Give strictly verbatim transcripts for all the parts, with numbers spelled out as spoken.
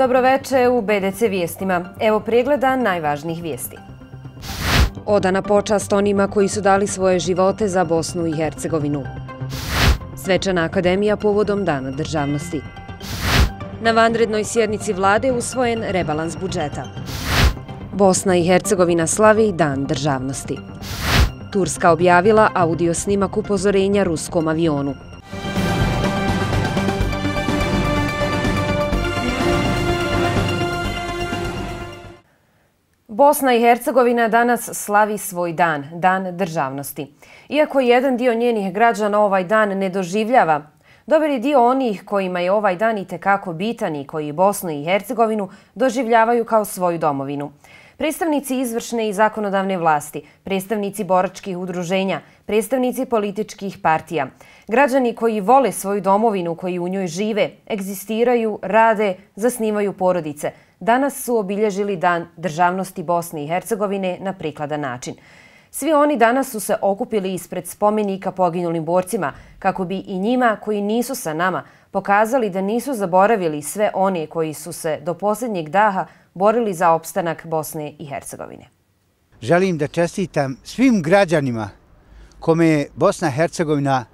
Dobroveče u B D C vijestima. Evo pregleda najvažnijih vijesti. Odana počast onima koji su dali svoje živote za Bosnu i Hercegovinu. Svečana akademija povodom Dana državnosti. Na vanrednoj sjednici vlade usvojen rebalans budžeta. Bosna i Hercegovina slavi Dan državnosti. Turska objavila audio snimak upozorenja ruskom avionu. Bosna i Hercegovina danas slavi svoj dan, Dan državnosti. Iako jedan dio njenih građana ovaj dan ne doživljava, dobar je dio onih kojima je ovaj dan itekako bitan i koji Bosnu i Hercegovinu doživljavaju kao svoju domovinu. Predstavnici izvršne i zakonodavne vlasti, predstavnici boračkih udruženja, predstavnici političkih partija, građani koji vole svoju domovinu, koji u njoj žive, egzistiraju, rade, zasnivaju porodice, danas su obilježili Dan državnosti Bosne i Hercegovine na prikladan način. Svi oni danas su se okupili ispred spomenika poginulim borcima kako bi i njima koji nisu sa nama pokazali da nisu zaboravili sve one koji su se do posljednjeg daha borili za opstanak Bosne i Hercegovine. Želim da čestitam svim građanima kome je Bosna i Hercegovina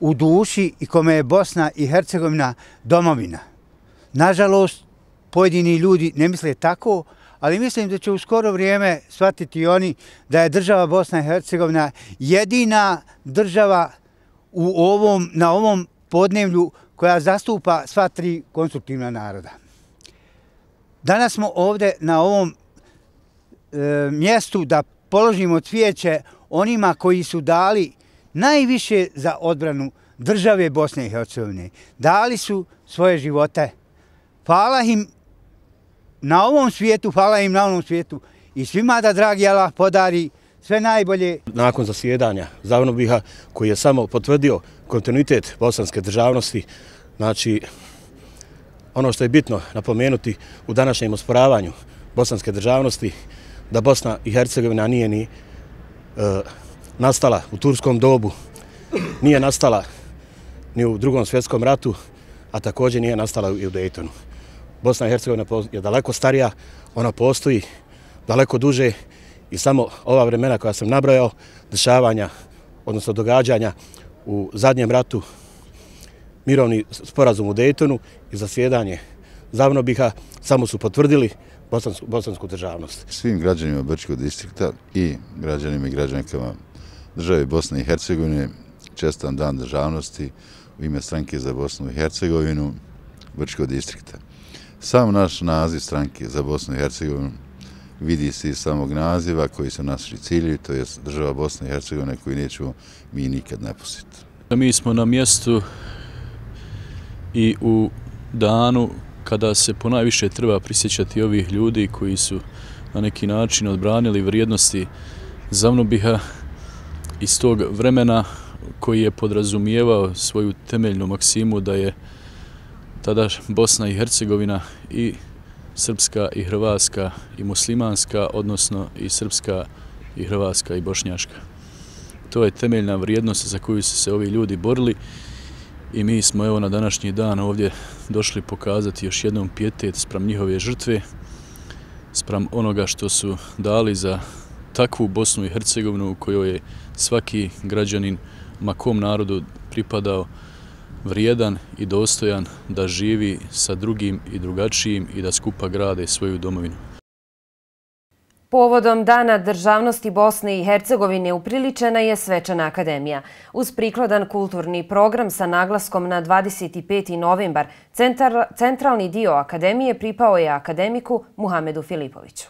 u duši i kome je Bosna i Hercegovina domovina. Nažalost, pojedini ljudi ne misle tako, ali mislim da će u skoro vrijeme shvatiti oni da je država Bosna i Hercegovina jedina država u ovom, na ovom podneblju koja zastupa sva tri konstruktivna naroda. Danas smo ovdje na ovom e, mjestu da položimo cvijeće onima koji su dali najviše za odbranu države Bosne i Hercegovine. Dali su svoje živote. Hvala im na ovom svijetu, hvala im na ovom svijetu i svima da dragi Allah podari sve najbolje. Nakon zasjedanja Zavnobiha koji je samo potvrdio kontinuitet bosanske državnosti, znači ono što je bitno napomenuti u današnjem osporavanju bosanske državnosti, da Bosna i Hercegovina nije ni e, nastala u turskom dobu, nije nastala ni u drugom svjetskom ratu, a također nije nastala i u Daytonu. Bosna i Hercegovina je daleko starija, ona postoji daleko duže i samo ova vremena koja sam nabrojao, dešavanja, odnosno događanja u zadnjem ratu, mirovni sporazum u Daytonu i zasjedanje Zavnobiha samo su potvrdili bosansku, bosansku državnost. Svim građanima Brčkog distrikta i građanima i građankama države Bosne i Hercegovine čestitam Dan državnosti u ime Stranke za Bosnu i Hercegovinu Brčkog distrikta. Sam naš naziv Stranke za Bosnu i Hercegovinu vidi se iz samog naziva koji su naši ciljevi, to je država Bosne i Hercegovine koju nećemo mi nikad napustiti. Mi smo na mjestu i u danu kada se ponajviše treba prisjećati ovih ljudi koji su na neki način odbranili vrijednosti Zavnobiha iz tog vremena koji je podrazumijevao svoju temeljnu maksimu da je tada Bosna i Hercegovina i srpska i hrvatska i muslimanska, odnosno i srpska i hrvatska i bošnjaška. To je temeljna vrijednost za koju su se ovi ljudi borili i mi smo evo na današnji dan ovdje došli pokazati još jednom pijetet spram njihove žrtve, spram onoga što su dali za takvu Bosnu i Hercegovinu u kojoj je svaki građanin, ma kom narodu pripadao, vrijedan i dostojan da živi sa drugim i drugačijim i da skupa grade svoju domovinu. Povodom Dana državnosti Bosne i Hercegovine upriličena je svečana akademija. Uz prikladan kulturni program sa naglaskom na dvadeset peti novembar, centar, centralni dio akademije pripao je akademiku Muhamedu Filipoviću.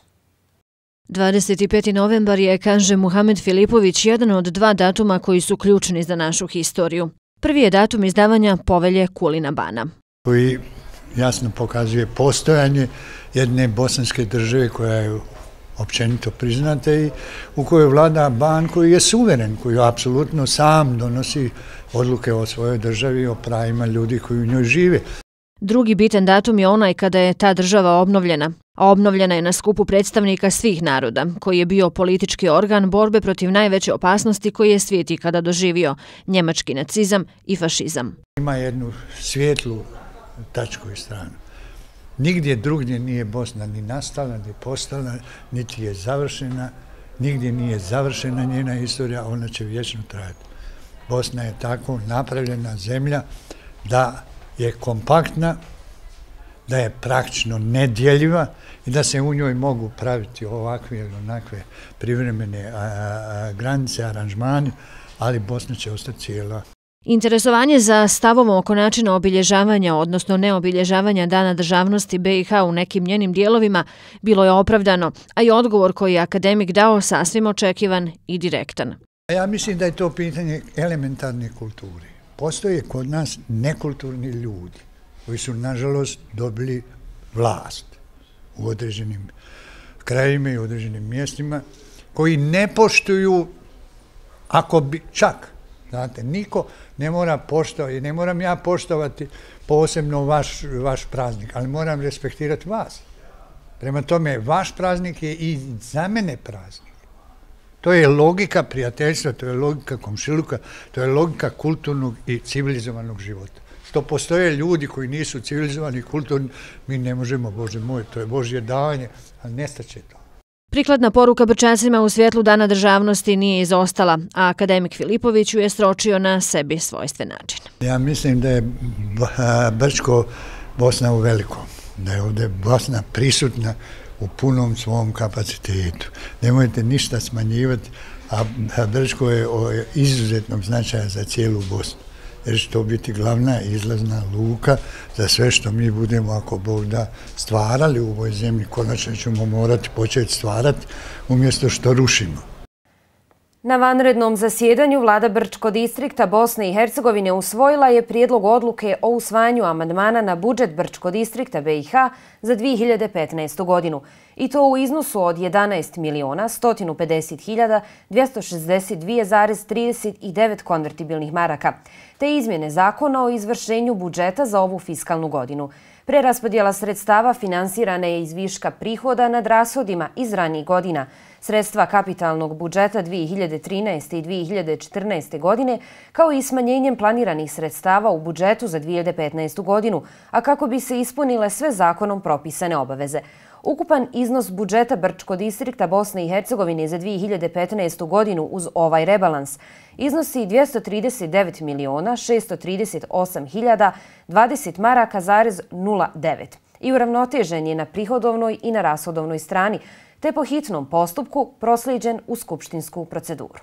dvadeset peti novembar je, kaže Muhamed Filipović, jedan od dva datuma koji su ključni za našu historiju. Prvi je datum izdavanja Povelje Kulina Bana, koji jasno pokazuje postojanje jedne bosanske države koja je općenito priznata i u kojoj vlada ban koji je suveren, koji apsolutno sam donosi odluke o svojoj državi i o pravima ljudi koji u njoj žive. Drugi bitan datum je onaj kada je ta država obnovljena. A obnovljena je na skupu predstavnika svih naroda, koji je bio politički organ borbe protiv najveće opasnosti koji je svijet ikada doživio, njemački nacizam i fašizam. Ima jednu svijetlu tačku i stranu. Nigdje drugdje nije Bosna ni nastala, ni postala, niti je završena, nigdje nije završena njena istorija, ona će vječno trajati. Bosna je tako napravljena zemlja da je kompaktna, da je praktično nedjeljiva i da se u njoj mogu praviti ovakve ili onakve privremene a, a, granice, aranžmani, ali Bosna će ostati cijela. Interesovanje za stavom oko načina obilježavanja, odnosno neobilježavanja Dana državnosti B i H u nekim njenim dijelovima bilo je opravdano, a i odgovor koji je akademik dao sasvim očekivan i direktan. Ja mislim da je to pitanje elementarne kulture. Postoje kod nas nekulturni ljudi koji su, nažalost, dobili vlast u određenim krajima i određenim mjestima, koji ne poštuju, ako bi čak, znate, niko ne mora poštovati, ne moram ja poštovati posebno vaš, vaš praznik, ali moram respektirati vas. Prema tome, vaš praznik je i za mene praznik. To je logika prijateljstva, to je logika komšiluka, to je logika kulturnog i civilizovanog života. Što postoje ljudi koji nisu civilizovani i kulturni, mi ne možemo, Bože moj, to je Božje davanje, ali nestaće to. Prikladna poruka Brčancima u svjetlu Dana državnosti nije izostala, a akademik Filipović ju je sročio na sebi svojstven način. Ja mislim da je Brčko Bosna u velikom, da je ovdje Bosna prisutna u punom svom kapacitetu. Nemojte ništa smanjivati, a Brčko je izuzetnog značaja za cijelu Bosnu. Jer će to biti glavna izlazna luka za sve što mi budemo, ako Bog da, stvarali u ovoj zemlji. Konačno ćemo morati početi stvarati umjesto što rušimo. Na vanrednom zasjedanju vlada Brčko distrikta Bosne i Hercegovine usvojila je prijedlog odluke o usvajanju amandmana na budžet Brčko distrikta B i H za dvije hiljade petnaestu. godinu. I to u iznosu od jedanaest miliona sto pedeset hiljada dvjesto šezdeset dvije zarez trideset devet konvertibilnih maraka, te izmjene zakona o izvršenju budžeta za ovu fiskalnu godinu. Preraspodjela sredstava finansirana je iz viška prihoda nad rashodima iz ranijih godina. Sredstva kapitalnog budžeta dvije hiljade trinaeste. i dvije hiljade četrnaeste. godine, kao i smanjenjem planiranih sredstava u budžetu za dvije hiljade petnaestu. godinu, a kako bi se ispunile sve zakonom propisane obaveze. Ukupan iznos budžeta Brčko distrikta Bosne i Hercegovine za dvije hiljade petnaestu. godinu uz ovaj rebalans iznosi dvjesto trideset devet miliona šesto trideset osam hiljada dvadeset maraka zarez nula devet i uravnotežen je na prihodovnoj i na rashodovnoj strani, te po hitnom postupku proslijeđen u skupštinsku proceduru.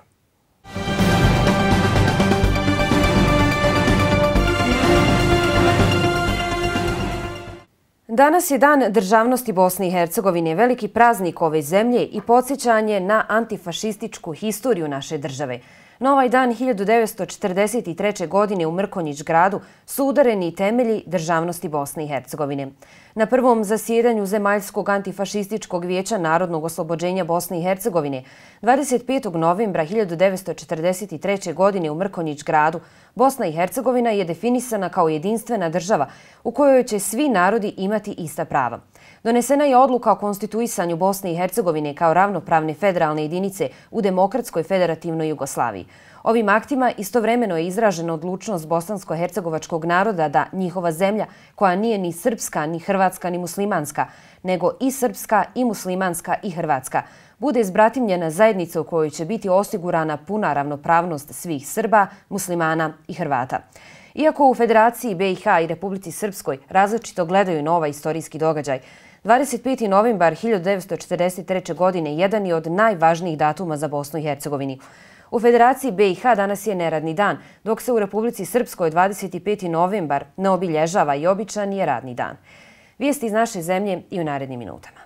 Danas je Dan državnosti Bosne i Hercegovine, veliki praznik ove zemlje i podsjećanje na antifašističku historiju naše države. Na ovaj dan hiljadu devetsto četrdeset treće. godine u Mrkonjić gradu su udareni temelji državnosti Bosne i Hercegovine. Na prvom zasjedanju Zemaljskog antifašističkog vijeća Narodnog oslobođenja Bosne i Hercegovine dvadeset petog novembra hiljadu devetsto četrdeset treće. godine u Mrkonjić gradu Bosna i Hercegovina je definisana kao jedinstvena država u kojoj će svi narodi imati ista prava. Donesena je odluka o konstituisanju Bosne i Hercegovine kao ravnopravne federalne jedinice u demokratskoj federativnoj Jugoslaviji. Ovim aktima istovremeno je izražena odlučnost bosansko-hercegovačkog naroda da njihova zemlja, koja nije ni srpska, ni hrvatska, ni muslimanska, nego i srpska, i muslimanska, i hrvatska, bude izbratimljena zajednica u kojoj će biti osigurana puna ravnopravnost svih Srba, muslimana i Hrvata. Iako u Federaciji B i H i Republici Srpskoj različito gledaju na ovaj istorijski događaj, dvadeset peti novembar hiljadu devetsto četrdeset treće. godine jedan je od najvažnijih datuma za Bosnu i Hercegovini. U Federaciji B i H danas je neradni dan, dok se u Republici Srpskoj dvadeset peti novembar ne obilježava i običan je radni dan. Vijesti iz naše zemlje i u narednim minutama.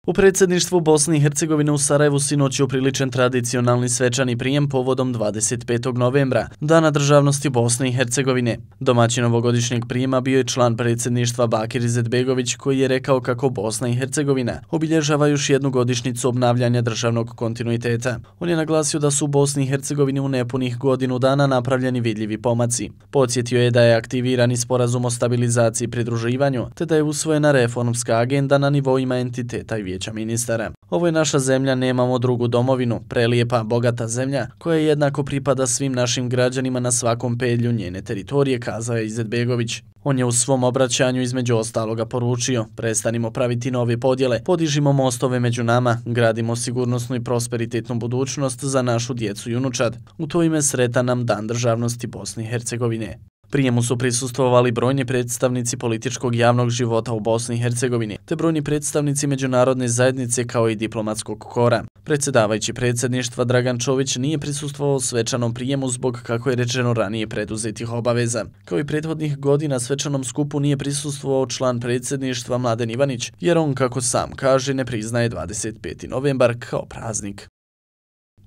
U predsjedništvu Bosne i Hercegovine u Sarajevu sinoć je upriličen tradicionalni svečani prijem povodom dvadeset petog novembra, Dana državnosti Bosne i Hercegovine. Domaćin ovogodišnjeg prijema bio je član predsjedništva Bakir Izetbegović, koji je rekao kako Bosna i Hercegovina obilježava još jednu godišnjicu obnavljanja državnog kontinuiteta. On je naglasio da su u Bosni i Hercegovini u nepunih godinu dana napravljeni vidljivi pomaci. Podsjetio je da je aktivirani sporazum o stabilizaciji i pridruživanju, te da je usvojena reformska agenda na nivoima entiteta i vijeća ministara. Ovo je naša zemlja, nemamo drugu domovinu, prelijepa, bogata zemlja koja jednako pripada svim našim građanima na svakom pedlju njene teritorije, kazao je Izetbegović. On je u svom obraćanju između ostaloga poručio: prestanimo praviti nove podjele, podižimo mostove među nama, gradimo sigurnosnu i prosperitetnu budućnost za našu djecu i unučad. U to ime sretan nam Dan državnosti Bosne i Hercegovine. Prijemu su prisustvovali brojni predstavnici političkog javnog života u Bosni i Hercegovini, te brojni predstavnici međunarodne zajednice kao i diplomatskog kora. Predsjedavajući predsjedništva Dragan Čović nije prisustvovao svečanom prijemu zbog, kako je rečeno ranije, preduzetih obaveza. Kao i prethodnih godina svečanom skupu nije prisustvovao član predsjedništva Mladen Ivanić, jer on, kako sam kaže, ne priznaje dvadeset peti novembar kao praznik.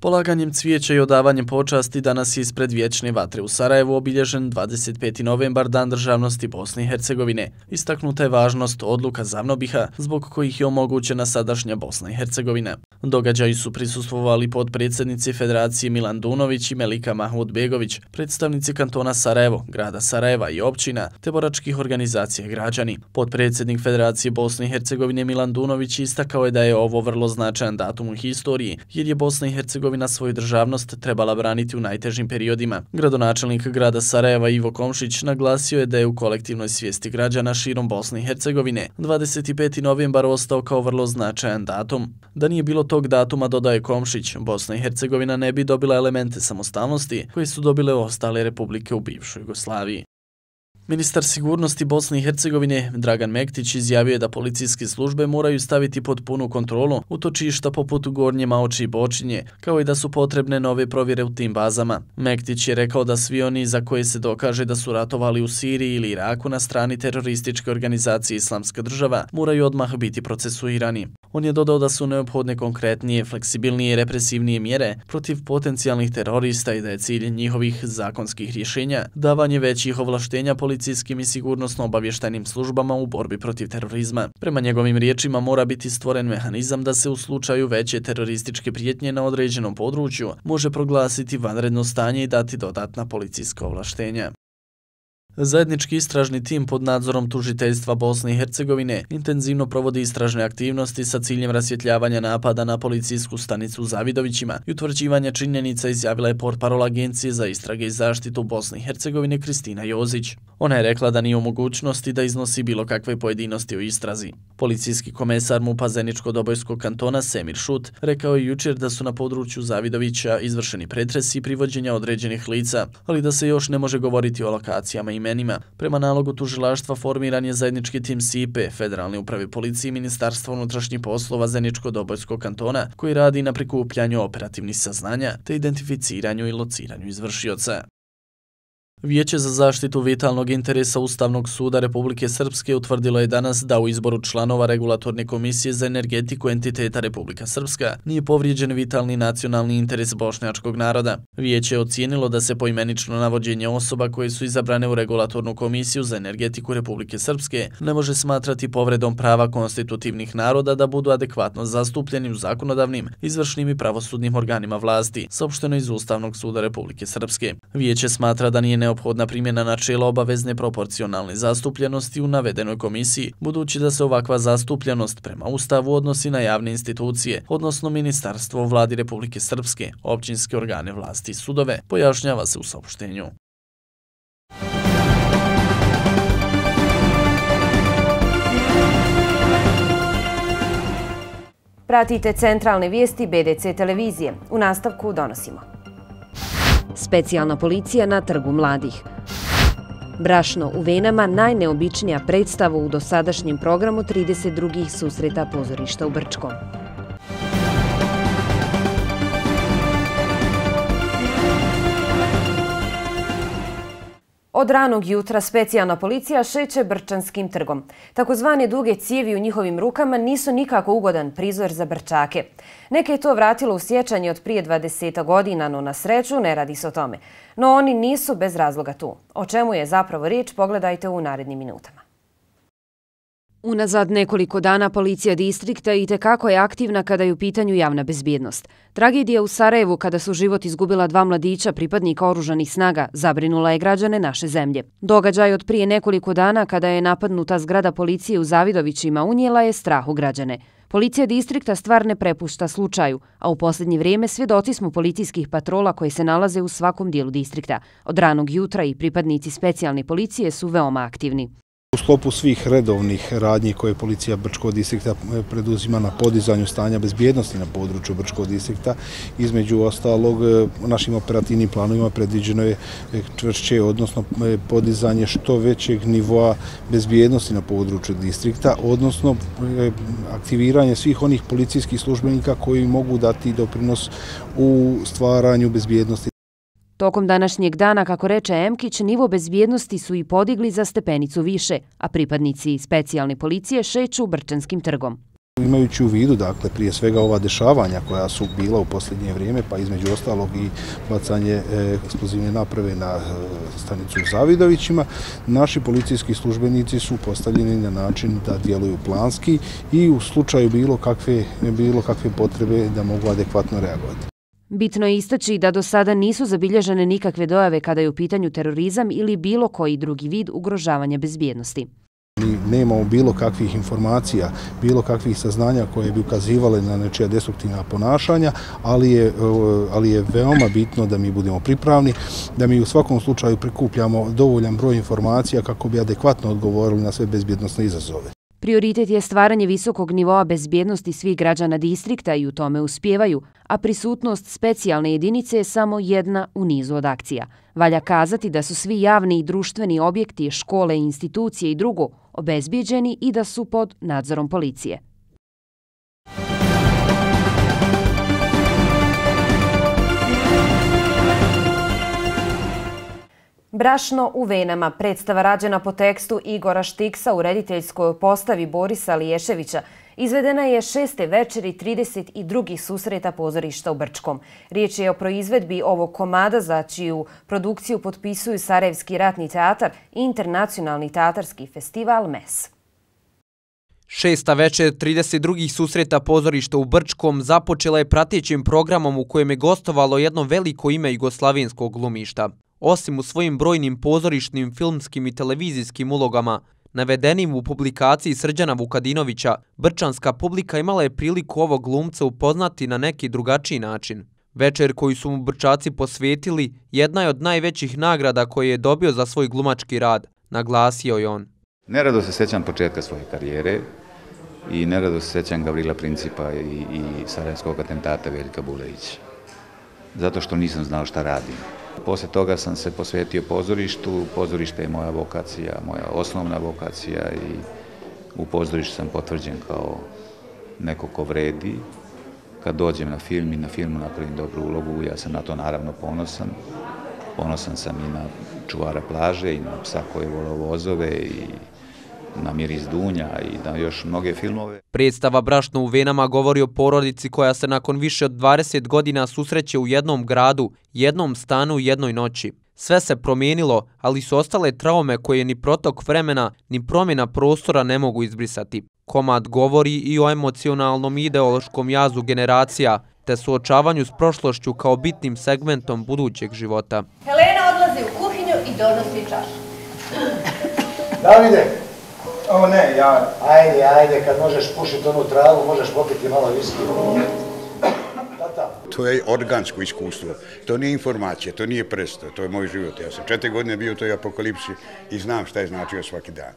Polaganjem cvijeća i odavanjem počasti danas je ispred Vječne vatre u Sarajevu obilježen dvadeset peti novembar, Dan državnosti Bosne i Hercegovine. Istaknuta je važnost odluka Zavnobiha, zbog kojih je omogućena sadašnja Bosna i Hercegovina. Događaji su prisustvovali podpredsjednici Federacije Milan Dunović i Melika Mahmudbegović, predstavnici kantona Sarajevo, grada Sarajeva i općina, te boračkih organizacija i građani. Podpredsjednik Federacije Bosne i Hercegovine Milan Dunović istakao je da je ovo vrlo značajan datum u historiji, jer je Bosna i Hercegovina svoju državnost trebala braniti u najtežim periodima. Gradonačelnik grada Sarajeva Ivo Komšić naglasio je da je u kolektivnoj svijesti građana širom Bosne i Hercegovine dvadeset peti novembar ostao kao vrlo značajan datum. Da nije bilo tog datuma, dodaje Komšić, Bosna i Hercegovina ne bi dobila elemente samostalnosti koje su dobile ostale republike u bivšoj Jugoslaviji. Ministar sigurnosti Bosne i Hercegovine Dragan Mektić izjavio je da policijske službe moraju staviti pod punu kontrolu utočišta poput Gornje Maoči i Bočinje, kao i da su potrebne nove provjere u tim bazama. Mektić je rekao da svi oni za koje se dokaže da su ratovali u Siriji ili Iraku na strani terorističke organizacije Islamska država moraju odmah biti procesuirani. On je dodao da su neophodne konkretnije, fleksibilnije i represivnije mjere protiv potencijalnih terorista i da je cilj njihovih zakonskih rješenja davanje većih ovlaštenja policijskim i sigurnosno-obavještajnim službama u borbi protiv terorizma. Prema njegovim riječima mora biti stvoren mehanizam da se u slučaju veće terorističke prijetnje na određenom području može proglasiti vanredno stanje i dati dodatna policijska ovlaštenja. Zajednički istražni tim pod nadzorom tužiteljstva Bosne i Hercegovine intenzivno provodi istražne aktivnosti sa ciljem rasvjetljavanja napada na policijsku stanicu u Zavidovićima i utvrđivanja činjenica, izjavila je portparol Agencije za istrage i zaštitu Bosne i Hercegovine Kristina Jozić. Ona je rekla da nije u mogućnosti da iznosi bilo kakve pojedinosti o istrazi. Policijski komesar MUP-a Zeničko-Dobojskog kantona Semir Šut rekao je jučer da su na području Zavidovića izvršeni pretresi i privođenja određenih lica, ali da se još ne može govoriti o lokacijama i imenima. Prema nalogu tužilaštva formiran je zajednički tim S I P E, Federalne uprave policije i Ministarstva unutrašnjih poslova Zeničko-Dobojskog kantona, koji radi na prikupljanju operativnih saznanja te identificiranju i lociranju izvršioca. Vijeće za zaštitu vitalnog interesa Ustavnog suda Republike Srpske utvrdilo je danas da u izboru članova Regulatorne komisije za energetiku entiteta Republika Srpska nije povrijeđen vitalni nacionalni interes bošnjačkog naroda. Vijeće je ocijenilo da se poimenično navođenje osoba koje su izabrane u Regulatornu komisiju za energetiku Republike Srpske ne može smatrati povredom prava konstitutivnih naroda da budu adekvatno zastupljeni u zakonodavnim, izvršnim i pravosudnim organima vlasti, saopšteno iz Ustavnog suda Republike Srpske. Vijeće smatra da nije neophodna primjena načela obavezne proporcionalne zastupljenosti u navedenoj komisiji, budući da se ovakva zastupljenost prema Ustavu odnosi na javne institucije, odnosno ministarstvo vladi Republike Srpske, općinske organe vlasti i sudove, pojašnjava se u saopštenju. Pratite centralne vijesti B D C televizije. U nastavku donosimo. Specijalna policija na Trgu mladih. Brašno u venama, najneobičnija predstava u dosadašnjem programu trideset drugih susreta pozorišta u Brčkom. Od ranog jutra specijalna policija šeće Brčanskim trgom. Takozvane duge cijevi u njihovim rukama nisu nikako ugodan prizor za Brčake. Neke je to vratilo u sjećanje od prije dvadeset godina, no na sreću ne radi se o tome. No oni nisu bez razloga tu. O čemu je zapravo riječ, pogledajte u narednim minutama. Unazad nekoliko dana policija distrikta itekako je aktivna kada je u pitanju javna bezbjednost. Tragedija u Sarajevu kada su život izgubila dva mladića pripadnika oružanih snaga zabrinula je građane naše zemlje. Događaj od prije nekoliko dana kada je napadnuta zgrada policije u Zavidovićima unijela je strah u građane. Policija distrikta stvar ne prepušta slučaju, a u posljednje vrijeme svjedoci smo policijskih patrola koje se nalaze u svakom dijelu distrikta. Od ranog jutra i pripadnici specijalne policije su veoma aktivni. U sklopu svih redovnih radnji koje policija Brčkog distrikta preduzima na podizanju stanja bezbjednosti na području Brčkog distrikta, između ostalog našim operativnim planovima predviđeno je čvršće, odnosno podizanje što većeg nivoa bezbjednosti na području distrikta, odnosno aktiviranje svih onih policijskih službenika koji mogu dati doprinos u stvaranju bezbjednosti. Tokom današnjeg dana, kako reče Emkić, nivo bezbjednosti su i podigli za stepenicu više, a pripadnici specijalne policije šeću Brčanskim trgom. Imajući u vidu, dakle, prije svega ova dešavanja koja su bila u posljednje vrijeme, pa između ostalog i bacanje eksplozivne naprave na stanicu u Zavidovićima, naši policijski službenici su postavljeni na način da djeluju planski i u slučaju bilo kakve, bilo kakve potrebe da mogu adekvatno reagovati. Bitno je istaći da do sada nisu zabilježene nikakve dojave kada je u pitanju terorizam ili bilo koji drugi vid ugrožavanja bezbjednosti. Nemamo bilo kakvih informacija, bilo kakvih saznanja koje bi ukazivale na nečija destruktivna ponašanja, ali je, ali je veoma bitno da mi budemo pripravni, da mi u svakom slučaju prikupljamo dovoljan broj informacija kako bi adekvatno odgovorili na sve bezbjednosne izazove. Prioritet je stvaranje visokog nivoa bezbjednosti svih građana distrikta i u tome uspijevaju, a prisutnost specijalne jedinice je samo jedna u nizu od akcija. Valja kazati da su svi javni i društveni objekti, škole, institucije i drugo obezbijeđeni i da su pod nadzorom policije. Brašno u venama, predstava rađena po tekstu Igora Štiksa u rediteljskoj postavi Borisa Liješevića, izvedena je šeste večeri trideset drugih susreta pozorišta u Brčkom. Riječ je o proizvedbi ovog komada za čiju produkciju potpisuju Sarajevski ratni teatar i Internacionalni teatarski festival M E S. Šesta večer trideset drugih susreta pozorišta u Brčkom započela je pratećim programom u kojem je gostovalo jedno veliko ime jugoslavenskog glumišta. Osim u svojim brojnim pozorišnim, filmskim i televizijskim ulogama, navedenim u publikaciji Srđana Vukadinovića, brčanska publika imala je priliku ovog glumca upoznati na neki drugačiji način. Večer koju su mu Brčaci posvetili jedna je od najvećih nagrada koje je dobio za svoj glumački rad, naglasio je on. Nerado se sjećam početka svoje karijere i nerado se sjećam Gavrila Principa i, i sarajevskog atentata Veljka Bulevića, zato što nisam znao šta radim. Poslije toga sam se posvetio pozorištu, pozorište je moja vokacija, moja osnovna vokacija i u pozorištu sam potvrđen kao neko ko vredi. Kad dođem na film i na filmu napravim dobru ulogu, ja sam na to naravno ponosan. Ponosan sam i na čuvara plaže i na psa koji volao vozove i na Miris Dunja i na još mnoge filmove. Predstava Brašno u venama govori o porodici koja se nakon više od dvadeset godina susreće u jednom gradu, jednom stanu u jednoj noći. Sve se promijenilo, ali su ostale traume koje ni protok vremena, ni promjena prostora ne mogu izbrisati. Komad govori i o emocionalnom i ideološkom jazu generacija, te suočavanju s prošlošću kao bitnim segmentom budućeg života. Helena odlazi u kuhinju i donosi čašu. Davide! O ne, ja... Ajde, ajde, kad možeš pušiti onu travu, možeš popiti malo viski. To je organsko iskustvo, to nije informacija, to nije predstav, to je moj život. Ja sam četiri godine bio u toj apokalipsi i znam šta je značio svaki dan.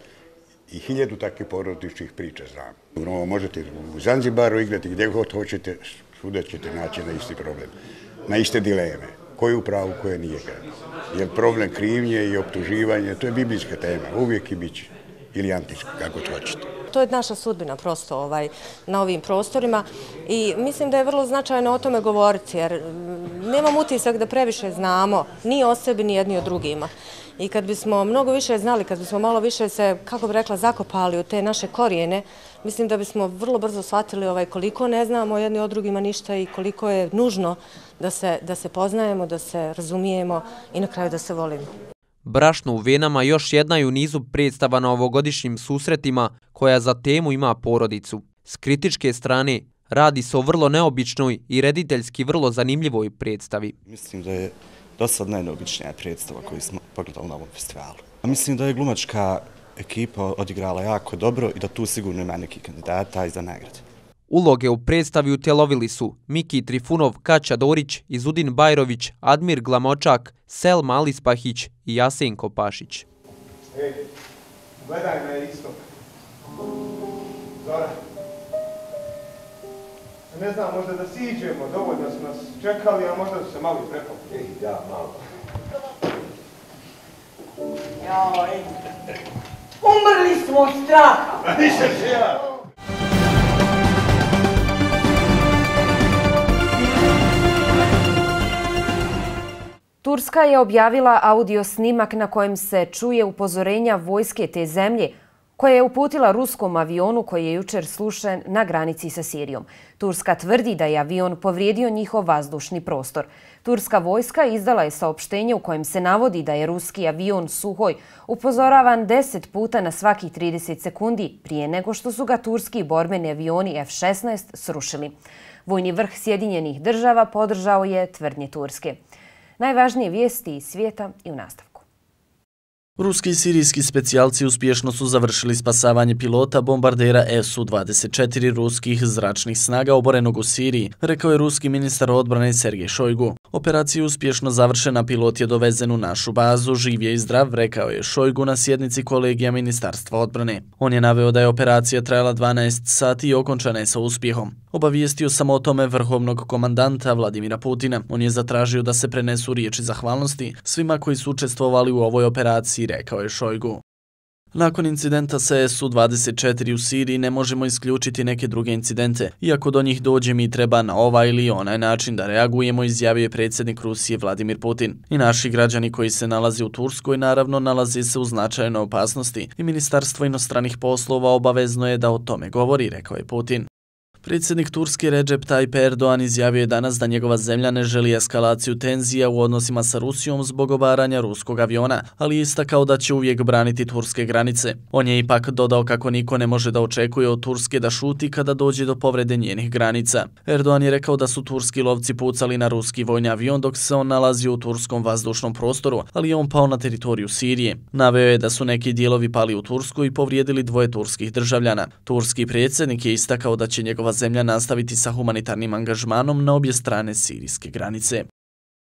I hiljadu takvih porodičnih priča znam. No, možete u Zanzibaru igrati gdje god hoćete, svuda ćete naći na isti problem, na iste dileme. Ko je u pravu, ko je nije. Jer problem krivnje i optuživanje, to je biblijska tema, uvijek i bit će. Ili antička, kako to hoćete. To je naša sudbina prosto ovaj, na ovim prostorima i mislim da je vrlo značajno o tome govoriti jer nemam utisak da previše znamo ni o sebi ni jedni o drugima. I kad bismo mnogo više znali, kad bismo malo više se, kako bi rekla, zakopali u te naše korijene, mislim da bismo vrlo brzo shvatili ovaj, koliko ne znamo jedni o drugima ništa i koliko je nužno da se, da se poznajemo, da se razumijemo i na kraju da se volimo. Brašno u venama još jedna je u nizu predstava na ovogodišnjim susretima koja za temu ima porodicu. S kritičke strane radi se o vrlo neobičnoj i rediteljski vrlo zanimljivoj predstavi. Mislim da je do sad najneobičnija predstava koju smo pogledali na ovom festivalu. Mislim da je glumačka ekipa odigrala jako dobro i da tu sigurno ima neki kandidata i za nagrade. Uloge u predstavi utjelovili su Miki Trifunov, Kaća Dorić, Izudin Bajrović, Admir Glamočak, Selma Alispahić i Jasenko Pašić. Ej, gledaj me isto. Zora. Ne znam, možda da siđemo, dovoljno su nas čekali, a možda su se malo i prepali. Ej, ja, malo. Joj, umrli smo od straha. Nisam se ja. Turska je objavila audio snimak na kojem se čuje upozorenja vojske te zemlje koja je uputila ruskom avionu koji je jučer slušen na granici sa Sirijom. Turska tvrdi da je avion povrijedio njihov vazdušni prostor. Turska vojska izdala je saopštenje u kojem se navodi da je ruski avion Suhoj upozoravan deset puta na svakih trideset sekundi prije nego što su ga turski borbeni avioni F šesnaest srušili. Vojni vrh Sjedinjenih država podržao je tvrdnje Turske. Najvažnije vijesti iz svijeta i u nastavku. Ruski i sirijski specijalci uspješno su završili spasavanje pilota bombardera S U dvadeset četiri ruskih zračnih snaga oborenog u Siriji, rekao je ruski ministar odbrane Sergej Šojgu. Operacija je uspješno završena, pilot je dovezen u našu bazu, živ je i zdrav, rekao je Šojgu na sjednici kolegija Ministarstva odbrane. On je naveo da je operacija trajala dvanaest sati i okončana je sa uspjehom. Obavijestio sam o tome vrhovnog komandanta Vladimira Putina. On je zatražio da se prenesu riječi zahvalnosti svima koji su učestvovali u ovoj operaciji, rekao je Šojgu. Nakon incidenta sa S U dvadeset četiri u Siriji ne možemo isključiti neke druge incidente. Iako do njih dođe, mi treba na ovaj ili onaj način da reagujemo, izjavio je predsjednik Rusije Vladimir Putin. I naši građani koji se nalaze u Turskoj naravno nalaze se u značajnoj opasnosti i Ministarstvo inostranih poslova obavezno je da o tome govori, rekao je Putin. Predsjednik Turske Recep Tayyip Erdogan izjavio je danas da njegova zemlja ne želi eskalaciju tenzija u odnosima sa Rusijom zbog obaranja ruskog aviona, ali je istakao da će uvijek braniti turske granice. On je ipak dodao kako niko ne može da očekuje od Turske da šuti kada dođe do povrede njenih granica. Erdogan je rekao da su turski lovci pucali na ruski vojni avion dok se on nalazio u turskom vazdušnom prostoru, ali je on pao na teritoriju Sirije. Naveo je da su neki dijelovi pali u Tursku i povrijedili dvoje turskih državljana. Turski predsjednik je istakao da će njegova zemlja nastaviti sa humanitarnim angažmanom na obje strane sirijske granice.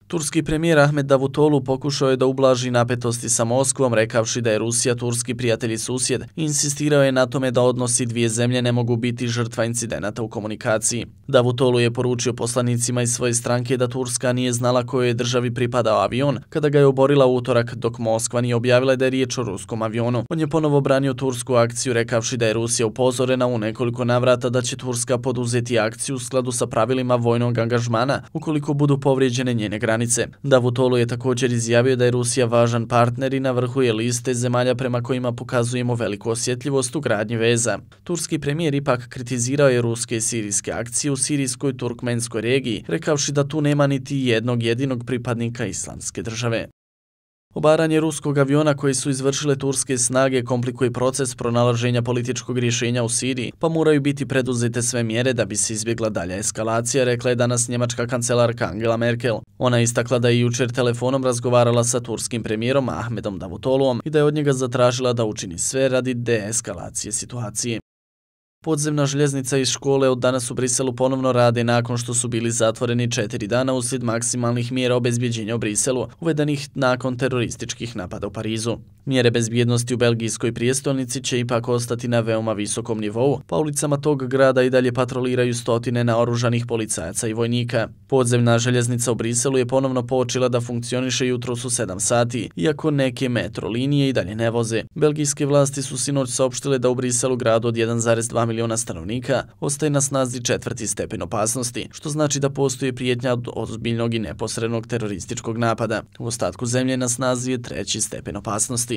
Turski premijer Ahmed Davutoglu pokušao je da ublaži napetosti sa Moskvom, rekavši da je Rusija turski prijatelj i susjed. Insistirao je na tome da odnosi dvije zemlje ne mogu biti žrtva incidenata u komunikaciji. Davutoglu je poručio poslanicima iz svoje stranke da Turska nije znala kojoj je državi pripadao avion kada ga je oborila utorak, dok Moskva nije objavila da je riječ o ruskom avionu. On je ponovo branio tursku akciju, rekavši da je Rusija upozorena u nekoliko navrata da će Turska poduzeti akciju u skladu sa pravilima vojnog angažmana ukoliko budu povrijeđene njene granice. Davutoglu je također izjavio da je Rusija važan partner i na vrhu je liste zemalja prema kojima pokazujemo veliku osjetljivost u gradnji veza. Turski premijer ipak kritizirao je ruske i sirijske akcije u sirijskoj turkmenskoj regiji, rekavši da tu nema niti jednog jedinog pripadnika islamske države. Obaranje ruskog aviona koji su izvršile turske snage komplikuje proces pronalaženja političkog rješenja u Siriji, pa moraju biti preduzete sve mjere da bi se izbjegla dalja eskalacija, rekla je danas njemačka kancelarka Angela Merkel. Ona je istakla da je jučer telefonom razgovarala sa turskim premijerom Ahmedom Davutogluom i da je od njega zatražila da učini sve radi deeskalacije situacije. Podzemna željeznica iz škole od danas u Briselu ponovno rade nakon što su bili zatvoreni četiri dana uslijed maksimalnih mjera obezbjeđenja u Briselu, uvedenih nakon terorističkih napada u Parizu. Mjere bezbjednosti u belgijskoj prijestolnici će ipak ostati na veoma visokom nivou, pa ulicama tog grada i dalje patroliraju stotine naoružanih policajaca i vojnika. Podzemna željeznica u Briselu je ponovno počela da funkcioniše jutros u sedam sati, iako neke metro linije i dalje ne voze. Belgijske vlasti su sinoć saopštile da u Briselu, gradu od jedan zarez dva miliona stanovnika, ostaje na snazi četvrti stepen opasnosti, što znači da postoji prijetnja od ozbiljnog i neposrednog terorističkog napada. U ostatku zemlje na snazi je treći stepen opasnosti.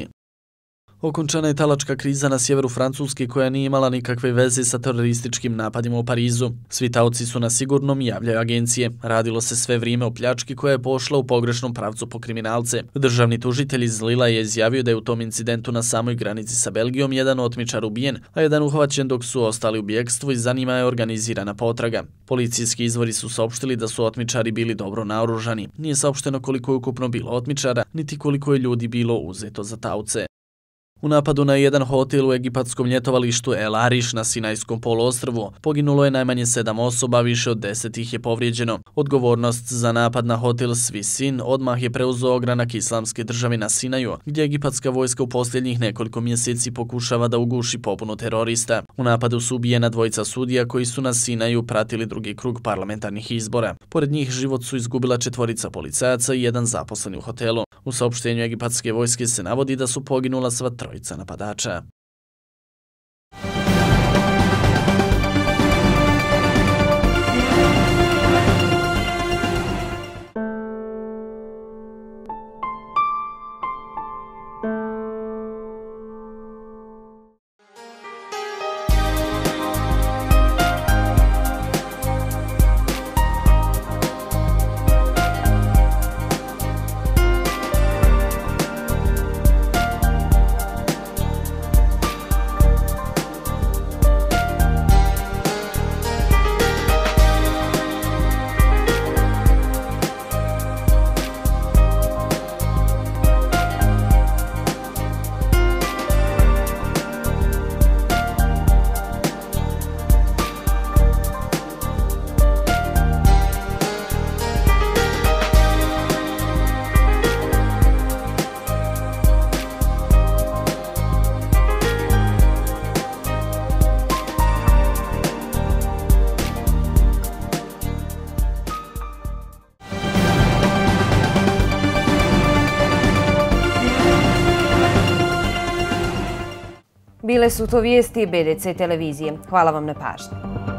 Okončana je talačka kriza na sjeveru Francuske koja nije imala nikakve veze sa terorističkim napadima u Parizu. Svi taoci su na sigurnom, javljaju agencije. Radilo se sve vrijeme o pljački koja je pošla u pogrešnom pravcu po kriminalce. Državni tužitelj iz Lila je izjavio da je u tom incidentu na samoj granici sa Belgijom jedan otmičar ubijen, a jedan uhvaćen dok su ostali u bjekstvu i za njima je organizirana potraga. Policijski izvori su saopštili da su otmičari bili dobro naoružani. Nije saopšteno koliko je ukupno bilo otmičara, niti koliko je ljudi bilo uzeto za taoce. U napadu na jedan hotel u egipatskom ljetovalištu El Arish na Sinajskom poluostrvu poginulo je najmanje sedam osoba, više od deset ih je povrijeđeno. Odgovornost za napad na hotel Svisin odmah je preuzeo ogranak Islamske države na Sinaju, gdje egipatska vojska u posljednjih nekoliko mjeseci pokušava da uguši pobunu terorista. U napadu su ubijena dvojica sudija koji su na Sinaju pratili drugi krug parlamentarnih izbora. Pored njih život su izgubila četvorica policajaca i jedan zaposleni u hotelu. U saopštenju egipatske vojske se navodi da su poginula sva trojica napadača. Bile su to vijesti B D C televizije. Hvala vam na pažnji.